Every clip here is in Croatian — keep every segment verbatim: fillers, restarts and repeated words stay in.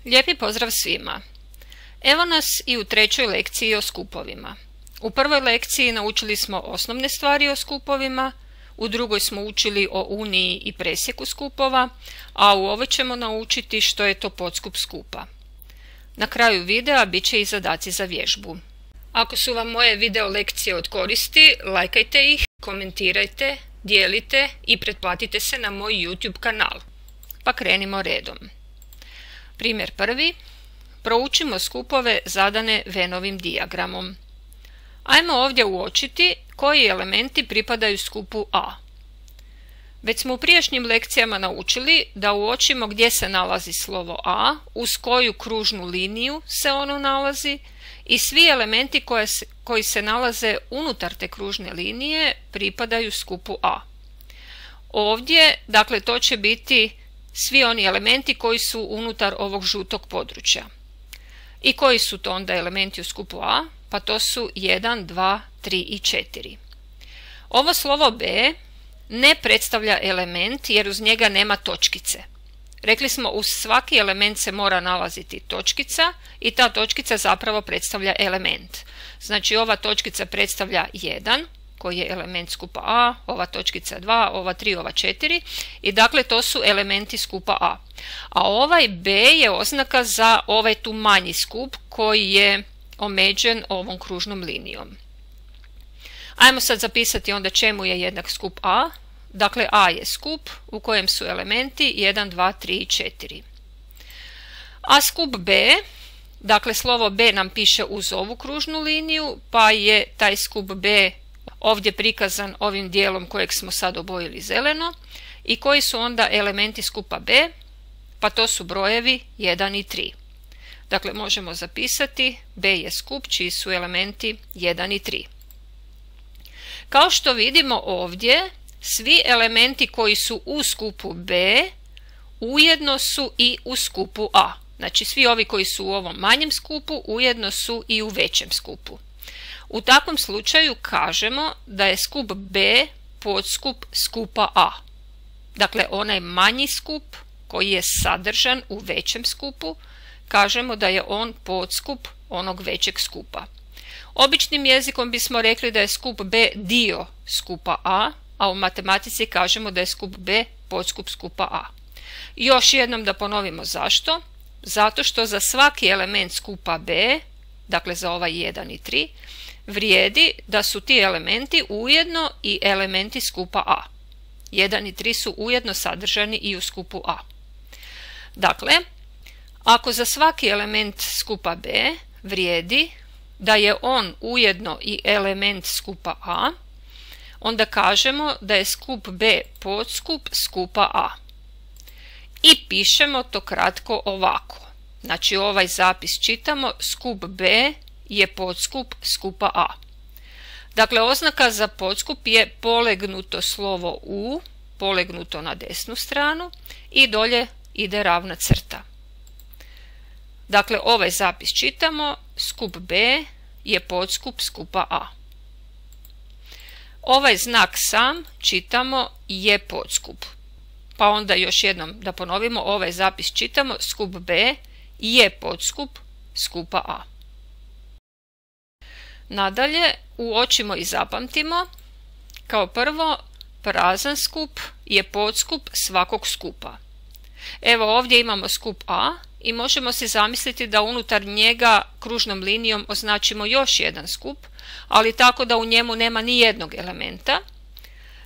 Lijepi pozdrav svima! Evo nas i u trećoj lekciji o skupovima. U prvoj lekciji naučili smo osnovne stvari o skupovima, u drugoj smo učili o uniji i presjeku skupova, a u ovoj ćemo naučiti što je to podskup skupa. Na kraju videa bit će i zadaci za vježbu. Ako su vam moje video lekcije od koristi, lajkajte ih, komentirajte, dijelite i pretplatite se na moj YouTube kanal. Pa krenimo redom. Primjer prvi. Proučimo skupove zadane Vennovim dijagramom. Ajmo ovdje uočiti koji elementi pripadaju skupu A. Već smo u prijašnjim lekcijama naučili da uočimo gdje se nalazi slovo A, uz koju kružnu liniju se ono nalazi i svi elementi koje se, koji se nalaze unutar te kružne linije pripadaju skupu A. Ovdje, dakle, to će biti svi oni elementi koji su unutar ovog žutog područja. I koji su to onda elementi u skupu A? Pa to su jedan, dva, tri i četiri. Ovo slovo B ne predstavlja element jer uz njega nema točkice. Rekli smo, uz svaki element se mora nalaziti točkica i ta točkica zapravo predstavlja element. Znači ova točkica predstavlja jedan, koji je element skupa A, ova točkica dva, ova tri, ova četiri i dakle to su elementi skupa A. A ovaj B je oznaka za ovaj tu manji skup koji je omeđen ovom kružnom linijom. Ajmo sad zapisati onda čemu je jednak skup A. Dakle, A je skup u kojem su elementi jedan, dva, tri i četiri. A skup B, dakle slovo B nam piše uz ovu kružnu liniju, pa je taj skup B ovdje prikazan ovim dijelom kojeg smo sad obojili zeleno. I koji su onda elementi skupa B? Pa to su brojevi jedan i tri. Dakle, možemo zapisati B je skup čiji su elementi jedan i tri. Kao što vidimo ovdje, svi elementi koji su u skupu B ujedno su i u skupu A. Znači svi ovi koji su u ovom manjem skupu ujedno su i u većem skupu. U takvom slučaju kažemo da je skup B podskup skupa A. Dakle, onaj manji skup koji je sadržan u većem skupu, kažemo da je on podskup onog većeg skupa. Običnim jezikom bismo rekli da je skup B dio skupa A, a u matematici kažemo da je skup B podskup skupa A. Još jednom da ponovimo zašto. Zato što za svaki element skupa B, dakle za ovaj jedan i tri, vrijedi da su ti elementi ujedno i elementi skupa A. jedan i tri su ujedno sadržani i u skupu A. Dakle, ako za svaki element skupa B vrijedi da je on ujedno i element skupa A, onda kažemo da je skup B podskup skupa A. I pišemo to kratko ovako. Znači ovaj zapis čitamo, skup B je podskup skupa A. Dakle, oznaka za podskup je polegnuto slovo U, polegnuto na desnu stranu i dolje ide ravna crta. Dakle, ovaj zapis čitamo, skup B je podskup skupa A. Ovaj znak sam čitamo je podskup. Pa onda još jednom da ponovimo, ovaj zapis čitamo, skup B je podskup skupa A. Nadalje, uočimo i zapamtimo, kao prvo, prazan skup je podskup svakog skupa. Evo ovdje imamo skup A i možemo si zamisliti da unutar njega kružnom linijom označimo još jedan skup, ali tako da u njemu nema ni jednog elementa.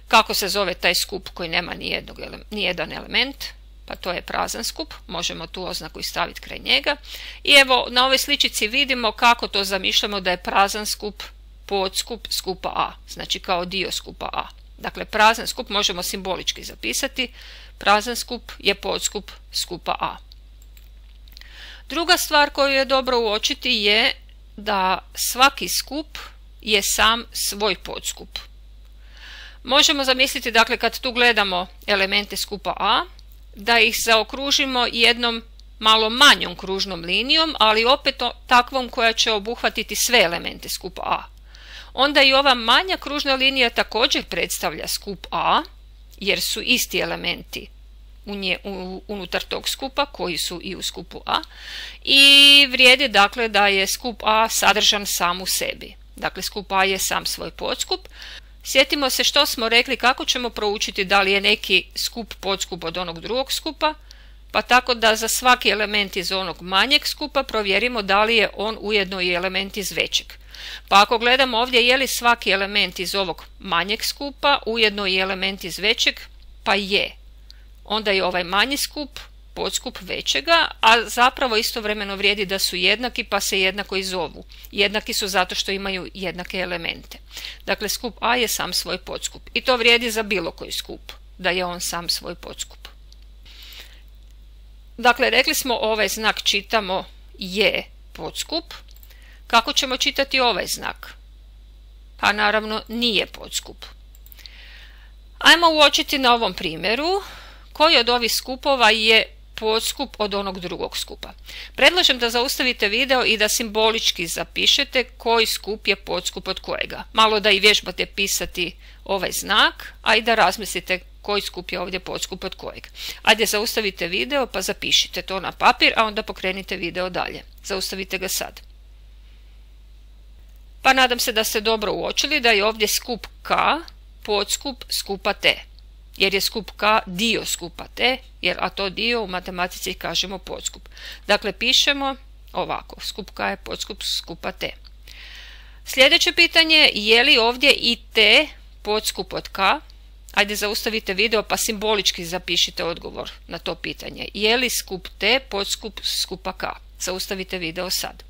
Kako se zove taj skup koji nema ni, jednog, ni jedan element? Pa to je prazan skup, možemo tu oznaku i staviti kraj njega. I evo na ovoj sličici vidimo kako to zamišljamo da je prazan skup podskup skupa A, znači kao dio skupa A. Dakle, prazan skup možemo simbolički zapisati, prazan skup je podskup skupa A. Druga stvar koju je dobro uočiti je da svaki skup je sam svoj podskup. Možemo zamisliti, dakle, kad tu gledamo elemente skupa A, da ih zaokružimo jednom malo manjom kružnom linijom, ali opet takvom koja će obuhvatiti sve elemente skupa A. Onda i ova manja kružna linija također predstavlja skup A, jer su isti elementi unutar tog skupa koji su i u skupu A i vrijedi dakle da je skup A sadržan sam u sebi. Dakle, skup A je sam svoj podskup. Sjetimo se što smo rekli, kako ćemo proučiti da li je neki skup podskup od onog drugog skupa, pa tako da za svaki element iz onog manjeg skupa provjerimo da li je on ujedno i element iz većeg. Pa ako gledamo ovdje je li svaki element iz ovog manjeg skupa ujedno i element iz većeg, pa je. Onda je ovaj manji skup podskup većega, a zapravo istovremeno vrijedi da su jednaki pa se jednako i zovu. Jednaki su zato što imaju jednake elemente. Dakle, skup A je sam svoj podskup i to vrijedi za bilo koji skup, da je on sam svoj podskup. Dakle, rekli smo ovaj znak čitamo je podskup. Kako ćemo čitati ovaj znak? Pa naravno nije podskup. Ajmo uočiti na ovom primjeru koji od ovih skupova je podskup od onog drugog skupa. Predlažem da zaustavite video i da simbolički zapišete koji skup je podskup od kojega. Malo da i vježbate pisati ovaj znak, a i da razmislite koji skup je ovdje podskup od kojeg. Ajde, zaustavite video pa zapišite to na papir, a onda pokrenite video dalje. Zaustavite ga sad. Pa nadam se da ste dobro uočili da je ovdje skup K podskup skupa T. Jer je skup K dio skupa T, jer, a to dio u matematici kažemo podskup. Dakle, pišemo ovako, skup K je podskup skupa T. Sljedeće pitanje, je li ovdje i T podskup od K? Ajde, zaustavite video pa simbolički zapišite odgovor na to pitanje. Je li skup T podskup skupa K? Zaustavite video sad.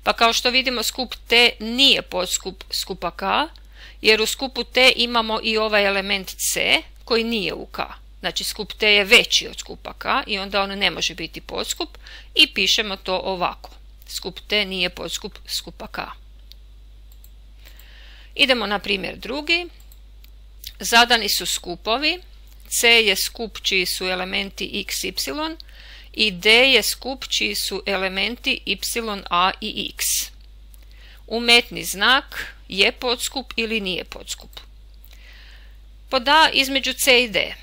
Pa kao što vidimo, skup T nije podskup skupa K, jer u skupu T imamo i ovaj element C koji nije u K. Znači, skup T je veći od skupa K i onda on ne može biti podskup i pišemo to ovako. Skup T nije podskup skupa K. Idemo na primjer drugi. Zadani su skupovi. C je skup čiji su elementi x, y i D je skup čiji su elementi y, a i x. Umetni znak je podskup ili nije podskup. Pod A između C i D.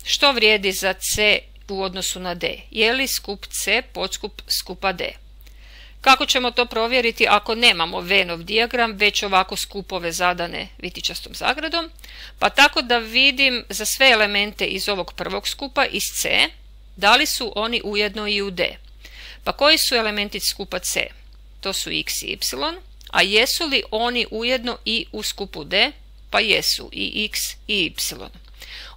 Što vrijedi za C u odnosu na D? Je li skup C podskup skupa D? Kako ćemo to provjeriti ako nemamo Venov dijagram, već ovako skupove zadane vitičastom zagradom? Pa tako da vidim za sve elemente iz ovog prvog skupa, iz C, da li su oni ujedno i u D. Pa koji su elementi skupa C? To su x i y, a jesu li oni ujedno i u skupu D? Pa jesu, i x i y.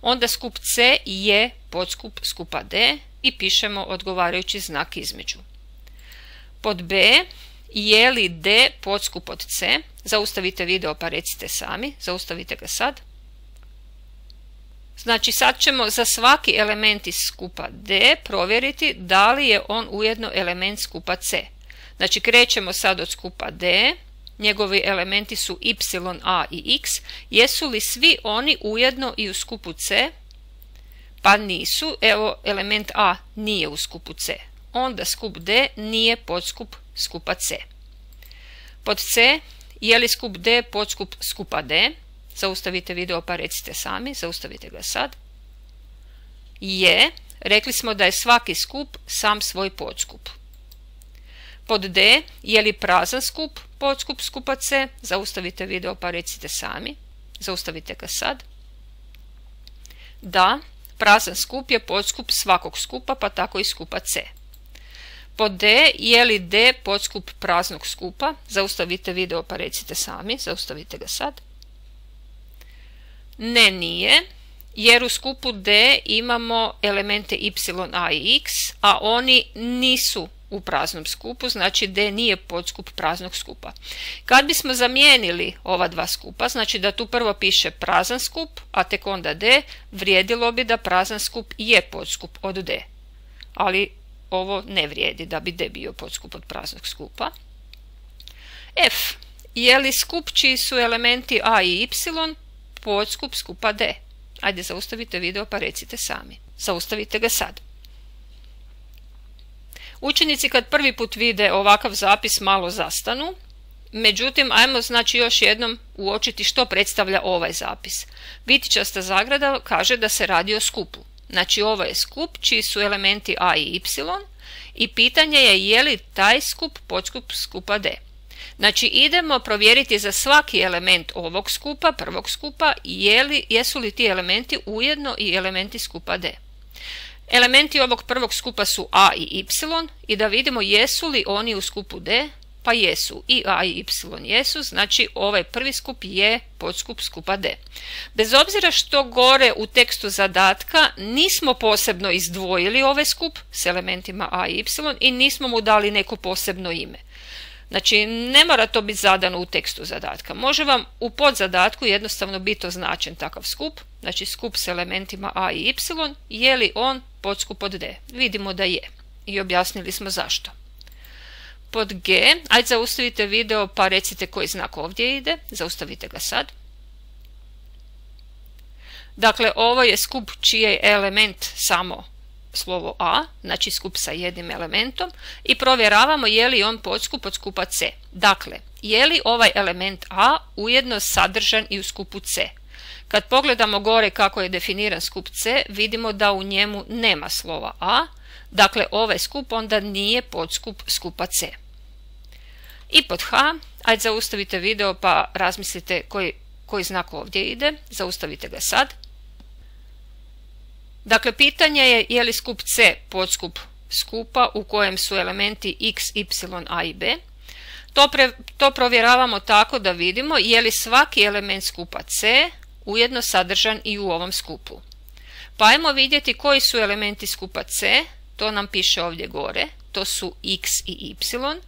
Onda skup C je podskup skupa D i pišemo odgovarajući znak između. Pod B, je li D podskup od C? Zaustavite video pa recite sami, zaustavite ga sad. Znači, sad ćemo za svaki element iz skupa D provjeriti da li je on ujedno element skupa C. Znači, krećemo sad od skupa D, njegovi elementi su y, a i x. Jesu li svi oni ujedno i u skupu C? Pa nisu. Evo, element A nije u skupu C. Onda skup D nije podskup skupa C. Pod C, je li skup D podskup skupa D? Zaustavite video pa recite sami, zaustavite ga sad. Je, rekli smo da je svaki skup sam svoj podskup. Pod D, je li prazan skup podskup skupa C? Zaustavite video pa recite sami, zaustavite ga sad. Da, prazan skup je podskup svakog skupa, pa tako i skupa C. Pod D, je li D podskup praznog skupa? Zaustavite video pa recite sami, zaustavite ga sad. Ne, nije, jer u skupu D imamo elemente y, a i x, a oni nisu u praznom skupu, znači D nije podskup praznog skupa. Kad bismo zamijenili ova dva skupa, znači da tu prvo piše prazan skup, a tek onda D, vrijedilo bi da prazan skup je podskup od D. Ali ovo ne vrijedi da bi D bio podskup od praznog skupa. F. Je li skup čiji su elementi a i y podskup skupa D? Ajde, zaustavite video pa recite sami. Zaustavite ga sad. Učenici kad prvi put vide ovakav zapis malo zastanu Međutim, ajmo znači još jednom uočiti što predstavlja ovaj zapis. Bitičasta zagrada kaže da se radi o skupu. Znači ovo je skup čiji su elementi a i y i pitanje je je li taj skup podskup skupa d. Znači idemo provjeriti za svaki element ovog skupa, prvog skupa, je li, jesu li ti elementi ujedno i elementi skupa d. Elementi ovog prvog skupa su a i y i da vidimo jesu li oni u skupu d, pa jesu, i a i y jesu, znači ovaj prvi skup je podskup skupa d. Bez obzira što gore u tekstu zadatka nismo posebno izdvojili ovaj skup s elementima a i y i nismo mu dali neko posebno ime. Znači ne mora to biti zadano u tekstu zadatka. Može vam u podzadatku jednostavno biti označen takav skup, znači skup s elementima a i y, je li on podskup od d. Vidimo da je i objasnili smo zašto. Pod G, ajde zaustavite video pa recite koji znak ovdje ide, zaustavite ga sad. Dakle, ovo je skup čiji je element samo slovo a, znači skup sa jednim elementom i provjeravamo je li on podskup od skupa c. Dakle, je li ovaj element a ujedno sadržan i u skupu c. Kad pogledamo gore kako je definiran skup c, vidimo da u njemu nema slova a, dakle ovaj skup onda nije podskup skupa c. I pod H, ajde zaustavite video pa razmislite koji, koji znak ovdje ide, zaustavite ga sad. Dakle, pitanje je je li skup C podskup skupa u kojem su elementi x, y, a i b. To, pre, to provjeravamo tako da vidimo je li svaki element skupa C ujedno sadržan i u ovom skupu. Pa ajmo vidjeti koji su elementi skupa C, to nam piše ovdje gore, to su x i y.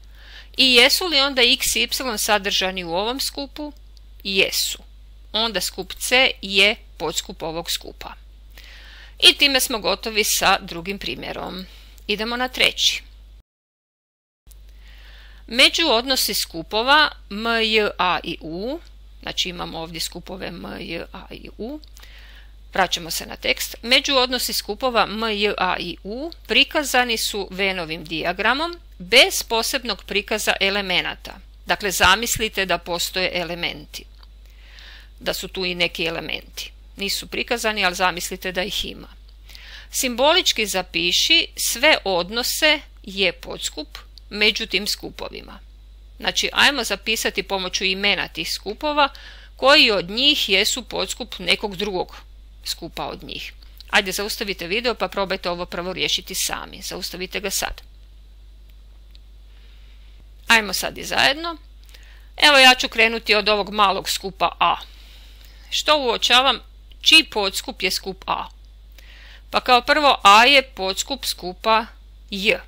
I jesu li onda x i y sadržani u ovom skupu? Jesu. Onda skup C je podskup ovog skupa. I time smo gotovi sa drugim primjerom. Idemo na treći. Međuodnosi skupova m, j, a i u, znači imamo ovdje skupove m, j, a i u. Vraćamo se na tekst. Međuodnosi skupova m, j, a i u prikazani su Vennovim dijagramom bez posebnog prikaza elemenata. Dakle, zamislite da postoje elementi. Da su tu i neki elementi. Nisu prikazani, ali zamislite da ih ima. Simbolički zapiši sve odnose je podskup među tim skupovima. Znači, ajmo zapisati pomoću imena tih skupova koji od njih jesu podskup nekog drugog skupa od njih. Ajde, zaustavite video pa probajte ovo prvo riješiti sami. Zaustavite ga sad. Ajmo sad i zajedno. Evo ja ću krenuti od ovog malog skupa A. Što uočavam? Čiji podskup je skup A? Pa kao prvo A je podskup skupa J.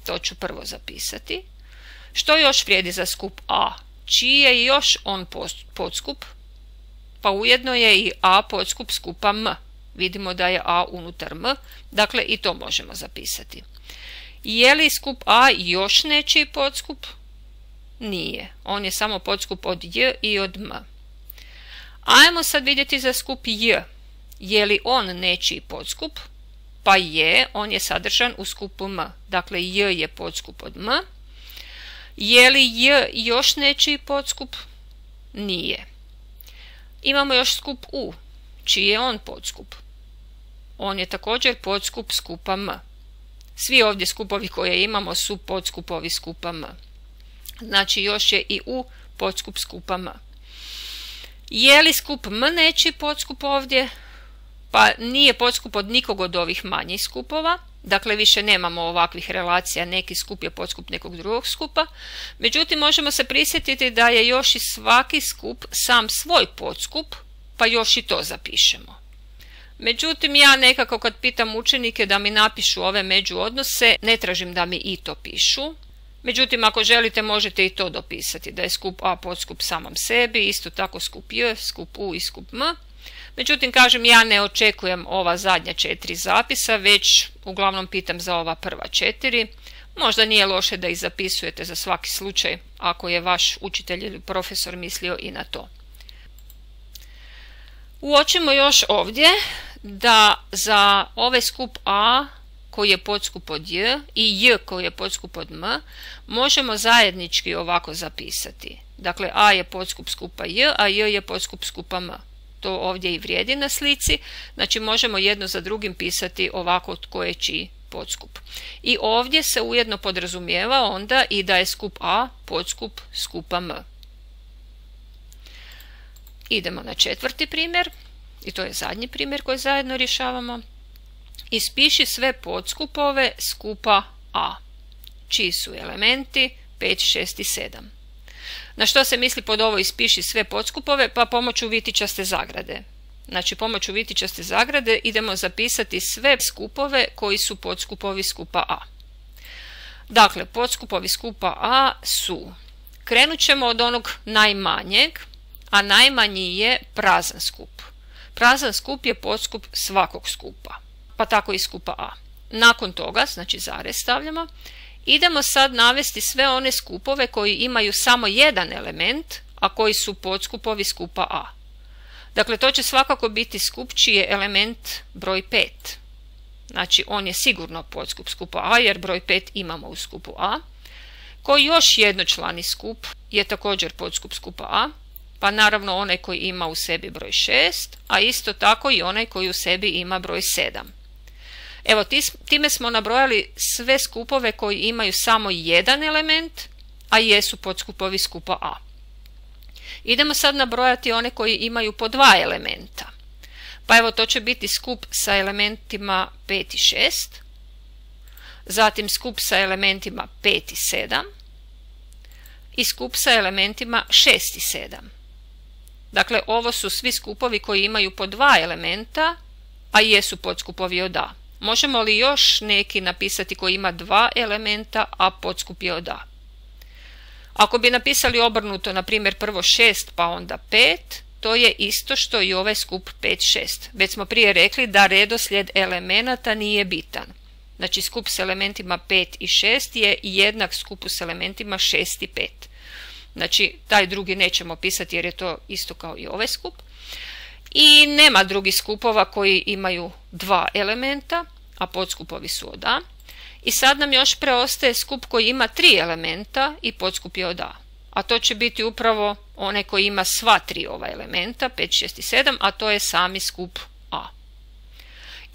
To ću prvo zapisati. Što još vrijedi za skup A? Čiji je još on podskup? Pa ujedno je i A podskup skupa M. Vidimo da je A unutar M, dakle i to možemo zapisati. Je li skup A još nečiji podskup? Nije. On je samo podskup od J i od M. Ajmo sad vidjeti za skup J. Je li on nečiji podskup? Pa je, on je sadržan u skupu M. Dakle, J je podskup od M. Je li J još nečiji podskup? Nije. Imamo još skup U. Čiji je on podskup? On je također podskup skupa M. Svi ovdje skupovi koje imamo su podskupovi skupa M. Znači još je i U podskup skupa M. Je li skup M nečiji podskup ovdje? Pa nije podskup od nikog od ovih manjih skupova. Dakle, više nemamo ovakvih relacija, neki skup je podskup nekog drugog skupa. Međutim, možemo se prisjetiti da je još i svaki skup sam svoj podskup, pa još i to zapišemo. Međutim, ja nekako kad pitam učenike da mi napišu ove međuodnose, ne tražim da mi i to pišu. Međutim, ako želite možete i to dopisati, da je skup A podskup samom sebi, isto tako skup J, skup U i skup M. Međutim, kažem, ja ne očekujem ova zadnja četiri zapisa, već uglavnom pitam za ova prva četiri. Možda nije loše da ih zapisujete za svaki slučaj, ako je vaš učitelj ili profesor mislio i na to. Uočimo još ovdje da za ovaj skup A koji je podskup od J i J koji je podskup od M možemo zajednički ovako zapisati. Dakle, A je podskup skupa J, a J je podskup skupa M. To ovdje i vrijedi na slici. Znači možemo jedno za drugim pisati ovako tko je čiji podskup. I ovdje se ujedno podrazumijeva onda i da je skup A podskup skupa M. Idemo na četvrti primjer. I to je zadnji primjer koji zajedno rješavamo. Ispiši sve podskupove skupa A, čiji su elementi pet, šest i sedam. Na što se misli pod ovo ispiši sve podskupove? Pa pomoću vitičaste zagrade. Znači pomoću vitičaste zagrade idemo zapisati sve skupove koji su podskupovi skupa A. Dakle, podskupovi skupa A su, krenut ćemo od onog najmanjeg, a najmanji je prazan skup. Prazan skup je podskup svakog skupa, pa tako i skupa A. Nakon toga, znači zarez stavljamo, idemo sad navesti sve one skupove koji imaju samo jedan element, a koji su podskupovi skupa A. Dakle, to će svakako biti skup čiji je element broj pet. Znači, on je sigurno podskup skupa A jer broj pet imamo u skupu A. Koji još jednočlani skup je također podskup skupa A, pa naravno onaj koji ima u sebi broj šest, a isto tako i onaj koji u sebi ima broj sedam. Evo, time smo nabrojali sve skupove koji imaju samo jedan element, a jesu podskupovi skupa A. Idemo sad nabrojati one koji imaju po dva elementa. Pa evo, to će biti skup sa elementima pet i šest, zatim skup sa elementima pet i sedam i skup sa elementima šest i sedam. Dakle, ovo su svi skupovi koji imaju po dva elementa, a jesu podskupovi od A. Možemo li još neki napisati koji ima dva elementa, a podskup je od A? Ako bi napisali obrnuto, na primjer prvo šest pa onda pet, to je isto što i ovaj skup pet šest. Već smo prije rekli da redoslijed elemenata nije bitan. Znači skup s elementima pet i šest je jednak skupu s elementima šest i pet. Znači taj drugi nećemo pisati jer je to isto kao i ovaj skup. I nema drugih skupova koji imaju dva elementa, a podskupovi su od A. I sad nam još preostaje skup koji ima tri elementa i podskup je od A. A to će biti upravo onaj koji ima sva tri ova elementa, pet, šest i sedam, a to je sami skup A.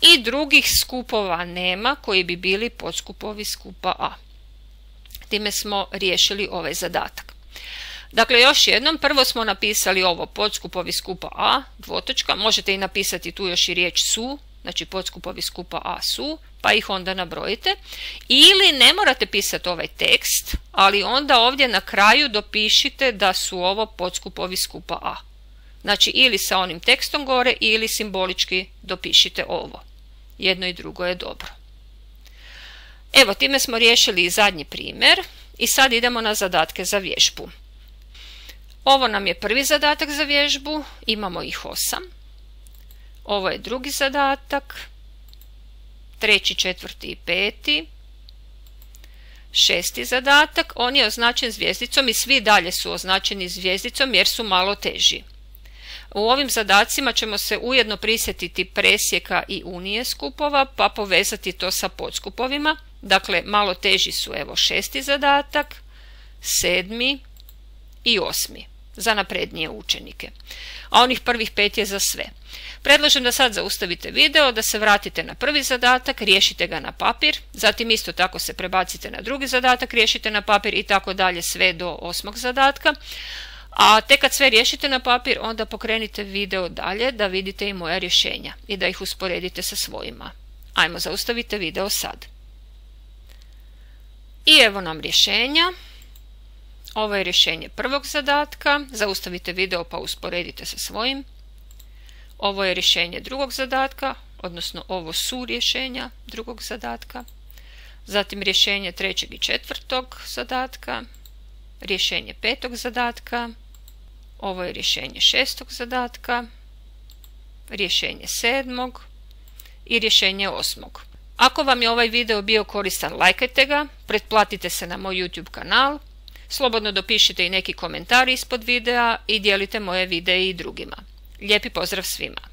I drugih skupova nema koji bi bili podskupovi skupa A. Time smo riješili ovaj zadatak. Dakle, još jednom, prvo smo napisali ovo podskupovi skupa A, dvotočka, možete i napisati tu još i riječ su, znači podskupovi skupa A su, pa ih onda nabrojite. Ili ne morate pisati ovaj tekst, ali onda ovdje na kraju dopišite da su ovo podskupovi skupa A. Znači ili sa onim tekstom gore ili simbolički dopišite ovo. Jedno i drugo je dobro. Evo, time smo riješili i zadnji primjer i sad idemo na zadatke za vježbu. Ovo nam je prvi zadatak za vježbu, imamo ih osam. Ovo je drugi zadatak, treći, četvrti i peti. Šesti zadatak, on je označen zvjezdicom i svi dalje su označeni zvjezdicom jer su malo teži. U ovim zadacima ćemo se ujedno prisjetiti presjeka i unije skupova pa povezati to sa podskupovima. Dakle, malo teži su evo šesti zadatak, sedmi i osmi za naprednije učenike. A onih prvih pet je za sve. Predlažem da sad zaustavite video, da se vratite na prvi zadatak, riješite ga na papir, zatim isto tako se prebacite na drugi zadatak, riješite na papir i tako dalje sve do osmog zadatka. A tek kad sve riješite na papir, onda pokrenite video dalje da vidite i moja rješenja i da ih usporedite sa svojima. Ajmo, zaustavite video sad. I evo nam rješenja. Ovo je rješenje prvog zadatka. Zaustavite video pa usporedite sa svojim. Ovo je rješenje drugog zadatka, odnosno ovo su rješenja drugog zadatka. Zatim rješenje trećeg i četvrtog zadatka. Rješenje petog zadatka. Ovo je rješenje šestog zadatka. Rješenje sedmog i rješenje osmog. Ako vam je ovaj video bio koristan, lajkajte ga, pretplatite se na moj YouTube kanal, slobodno dopišite i neki komentar ispod videa i dijelite moje videe i drugima. Lijepi pozdrav svima!